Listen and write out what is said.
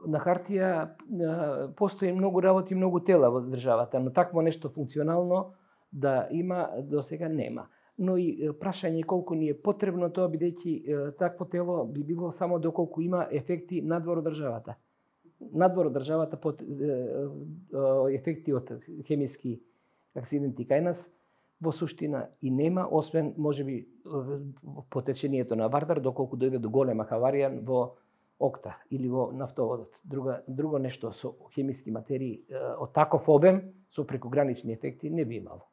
на хартија постои многу работи, многу тела во државата, но такво нешто функционално да има досега нема. Но и прашање колку ни е потребно тоа, бидејќи такво тело би било само доколку има ефекти надвор од државата. Надвор од државата ефекти од хемиски акциденти кај нас во суштина и нема, освен можеби по течението на Вардар, доколку дојде до голема хаварија во Окта или во нафтоводот. Друго нешто со хемиски материи од таков обем со прекогранични ефекти не би имало.